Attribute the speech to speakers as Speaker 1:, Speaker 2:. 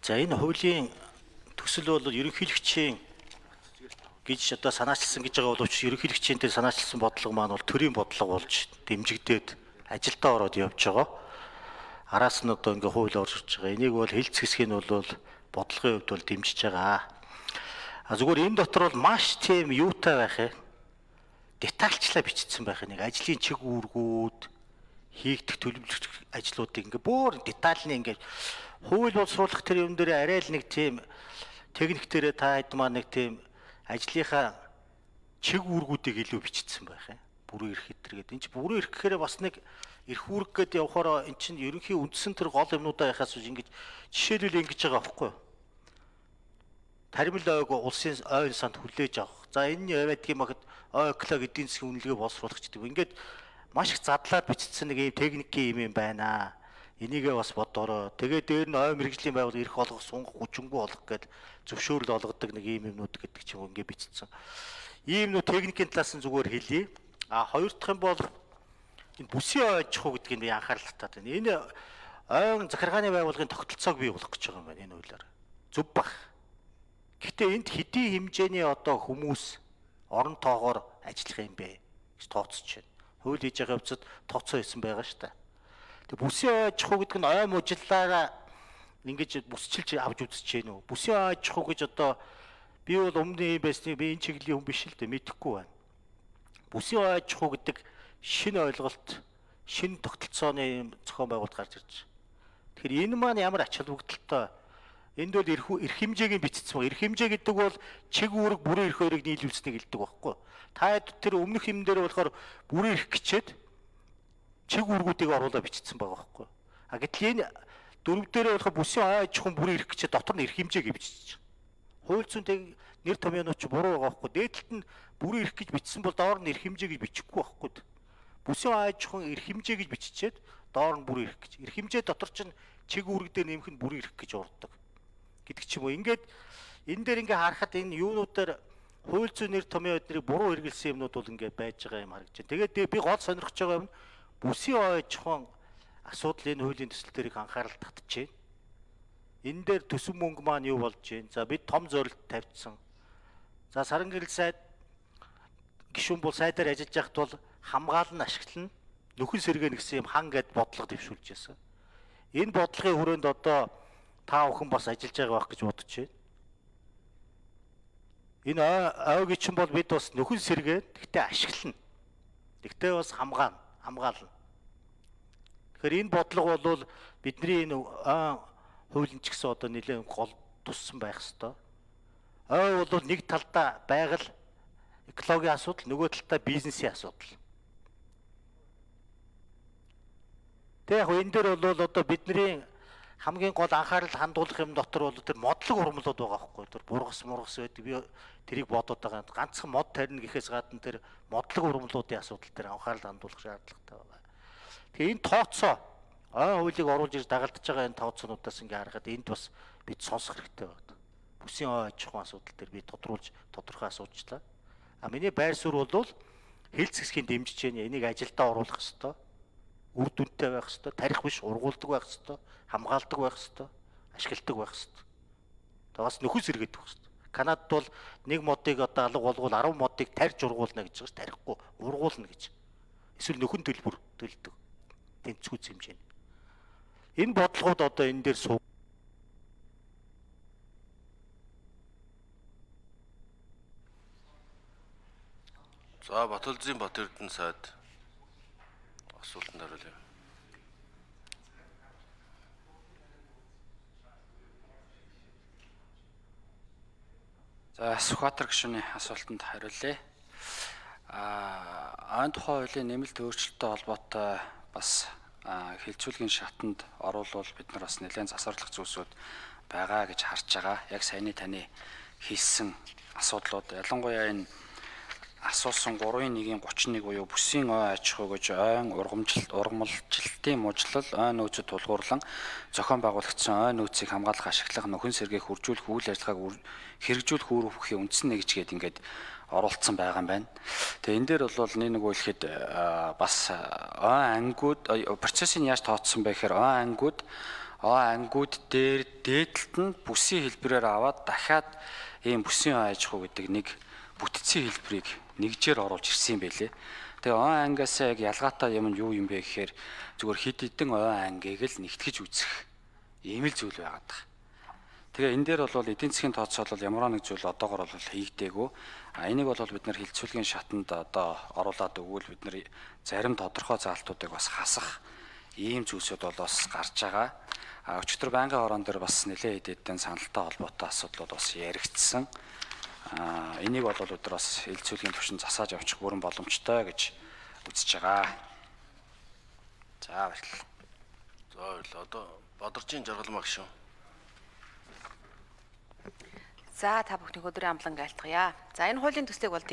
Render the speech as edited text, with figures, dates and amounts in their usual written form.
Speaker 1: За энэ хуулийн төсөл бол ерөнхийлөгчийн гэж одоо санаачилсан гэж байгаа боловч ерөнхийлөгчийн дээр санаачилсан бодлого маань бол төрийн бодлого болж дэмжигдээд ажилдаа ороод явж байгаа. Араас нь одоо ингээ хууль орж байгаа. Энийг бол хэлц хэсгийг нь бол бодлогын хувьд бол дэмжиж байгаа. Зүгээр энэ дотор бол маш тийм юутай байх юм. Детальчлаа бичсэн байх нэг ажлын чиг үүргүүд хийгдэх төлөвлөлт ажлуудыг ингээ бүр детальны ингээ хууль боловсруулах тэр юм дээр арай л нэг тийм техниктерээ та хэд маань нэг тийм ажлынхаа чиг үүргүүдийг илүү бичсэн байх юм. Бүрэн эрх хэтэр гэдэг. Энд чинь бүрэн эрх гэхээр бас нэг эрх үүрэг гэдэг явахаараа эн чинь ерөнхий үндсэн тэр гол юмнуудаа яхаас үз ингэж жишээлбэл ингэж байгаа байхгүй юу? Таримл ойг улсын ойн санд хүлээж авах. За энэ яваад гэмэхэд ойклог эдийн засгийн үнэлгээ боловсруулах гэдэг. Ингээд маш их задлаад бичсэн нэг юм техникийн юм байна. Энийгээ бас бодороо. Тэгээд дээр нь ой мэрэгжлийн байгуул эрх олгох, сунгах, хүчингүй олгох гэдэг зөвшөөрөл олгодог нэг юм юмнууд гэдэг ч юм ингээ бичсэн. Ийм нүү техникийн талаас нь зүгээр хэлье. Хоёр дахь юм бол энэ бүсийн ой аж ахуй гэдгийг би анхаарал татаад байна. Энэ ойн захиргааны байгууллагын тогтолцоог бий болгох гэж байгаа юм байна энэ хуулиар. Зөв баг. Гэхдээ энд хэдийн хэмжээний одоо хүмүүс орон тоогоор ажиллах юм бэ гэж тооцож байна. Хууль хийж байгаа явцад тооцоо хийсэн байгаа шүү дээ. Тэг бүсийн аж ахуй гэдэг нь ой мужиллаараа ингэж бүсчилж авч үзэж гэнэ үү? Бүсийн аж ахуй гэж одоо би бол өмнө юм байсныг би энэ чиглэлийн хүн биш л дээ мэдэхгүй байна. Бүсийн аж ахуй гэдэг шинэ ойлголт, шинэ тогтолцооны зохион байгуулалт гарч ирж байна. Тэгэхээр энэ маань ямар ач холбогдолтой? Энд бол эрх хэмжээг нь бичсэн байна. Эрх хэмжээ гэдэг бол чиг үүрэг бүрэн эрх хоёрыг нийлүүлсэнийг хэлдэг байхгүй. Та тэр өмнөх юм дээр болохоор бүрэн эрх гिचээд чиг үүргүүдийг оруулаад бичсэн байгаа байхгүй. Гэтэл энэ дөрөв дээрээ болох бүсийн ой аж ахуйн бүрэн эрх гिचээд дотор нь эрх хэмжээг бичиж байгаа. Хууль зүйнтэй нэр томьёонууд ч буруу байгаа байхгүй. Дээдлэлт нь бүрэн эрх гэж бичсэн бол доор нь эрх хэмжээ гэж бичихгүй байхгүй. Бүсийн ой аж ахуйн эрх хэмжээ гэж биччихээд доор нь бүрэн эрх гэж. Эрх хэмжээ дотор чинь чиг үүрэг дээр нэмэх нь бүрэн эрх гэж урддаг гэдэг ч юм уу. Ингээд энэ дээр ингээ харахад энэ юунуудаар хууль зүйн нэр томьёо эднийг буруу хэрэгэлсэн юмнууд бол ингээ байж байгаа юм харагдаж байна. Тэгээд би гол сонирхож байгаа юм бүсийн ой аж ахуйн асуудал энэ хуулийн төсөл дээр их анхаарал татж байна. Энэ дээр төсөв мөнгө маань юу болж байна? За бид том зорилт тавьчихсан. За саран гэрэл сайд гишүүн бол сайдаар ажиллаж байхад бол хамгаална, ашиглана, нөхөн сэргээнэ гэсэн юм хан гэд бодлого дэвшүүлж байсан. Энэ бодлогын хүрээнд одоо та бүхэн бас ажиллаж байгаа байх гэж бодож байна. Энэ ойгийн чинь бол бид бас нөхөн сэргээд гэхдээ ашиглана. Гэхдээ бас хамгаална. Тэгэхээр энэ бодлого бол бидний энэ хуулийн ч гэсэн одоо нэлээд гол туссан байх хэвээр. Ой бол нэг талдаа байгаль экологийн асуудал, нөгөө талдаа бизнесийн асуудал. Тэг яг энэ дээр бол одоо бидний хамгийн гол анхаарал хандуулах юм дотор бол тэр модлог урмлууд байгаа байхгүй. Тэр бургас байдаг. Би тэрийг бодоод байгаа. Ганцхан мод тарина гэхээс гадна тэр модлог урмлуудын асуудал дээр анхаарал хандуулах шаардлагатай байна. Тэгээ энэ тооцоо ой хуулийг оруулж ирж дагалдаж байгаа энэ тооцоонуудаас ингээ харахад энд бас бид сонсох хэрэгтэй байна. Бүсийн ой аж ахуйн асуудал дээр би тодорхой асуучлаа. Миний байр суурь бол хэлц хэсгийн дэмжиж байна. Энийг ажилдаа оруулах хэрэгтэй. Үр дүнтэй байх хэрэгтэй. Тарих биш, ургуулдаг байх хэрэгтэй. Хамгаалдаг байх хэрэгтэй. Ашигладаг байх хэрэгтэй. Тэгээс нөхөс сэргээд байх хэрэгтэй. Канадад бол нэг модыг одоо алга болгоод 10 модыг тарьж ургуулна гэж байгаа ш. Тарихгүй, ургуулна гэж. Эсвэл нөхөн төлбөр төлдөг. Тэнцвүүц хэмжээ. Энэ бодлогууд одоо энэ дээр суу.
Speaker 2: За Батөлзийн Батэрдэн сайд асуултанд хариулъя.
Speaker 3: За Сүхбаатар гишүүний асуултанд хариулъя. Ойн тухай хуулийн нэмэлт өөрчлөлттэй холбоотой бас хилцүүлгийн шатанд оруулал бид нар бас нэлээд засварлах зүйлсүүд байгаа гэж харж байгаа. Яг саяны таны хэлсэн асуудлууд ялангуяа энэ асуусан 3.1-31 буюу бүсийн ой аж ахуй гэж ойн ургамалжилтын мужлал ой нөөцөд тулгуурлан зохион байгуулагдсан ой нөөцийг хамгаалах, ашиглах, нөхөн сэргээх, хүржүүлэх үйл ажиллагааг хэрэгжүүлэх үр хөвхийн үндсэн нэгжгээд ингээд оруулсан байгаа юм байна. Тэгээ энэ дээр бол нэг үйлхэд бас ой ангууд процессын яаж тооцсон бэ гэхээр ой ангууд ангууд дээр дээдлэлт нь бүсийн хэлбэрээр аваад дахиад ийм бүсийн аж ахуй гэдэг нэг бүтцийн хэлбэрийг нэгжээр оруулж ирсэн юм байлээ. Тэгээ ангаас яг ялгаатай юм нь юу юм бэ гэхээр зүгээр хид хідэн ангийг л нэгтгэж үзэх ийм л зүйл байгаад байгаа. Тэгээ энэ дээр бол эдийн засгийн тооцоол бол ямар нэг зүйл одоогор бол хийгдээгүй. Энийг бол бид нар хилцүүлгийн шатанд одоо оруулаад өгвөл бид нар зарим тодорхой заалтуудыг бас хасах ийм зүйлсүүд бол бас гарч байгаа. Өчигдөр байнгын хорон дээр бас нэлээд хэдэн саналтай холбоотой асуудлууд бас яригдсан. Энийг бол бид нар бас хилцүүлгийн түвшин засааж авчих бүрэн боломжтой гэж үзэж байгаа. За баярлалаа.
Speaker 2: За баярлалаа. Одоо Бадарчин жаргалмаа гişүн.
Speaker 4: За та бүхний өдрийн амлан айлтгая. За энэ хуулийн төслийг бол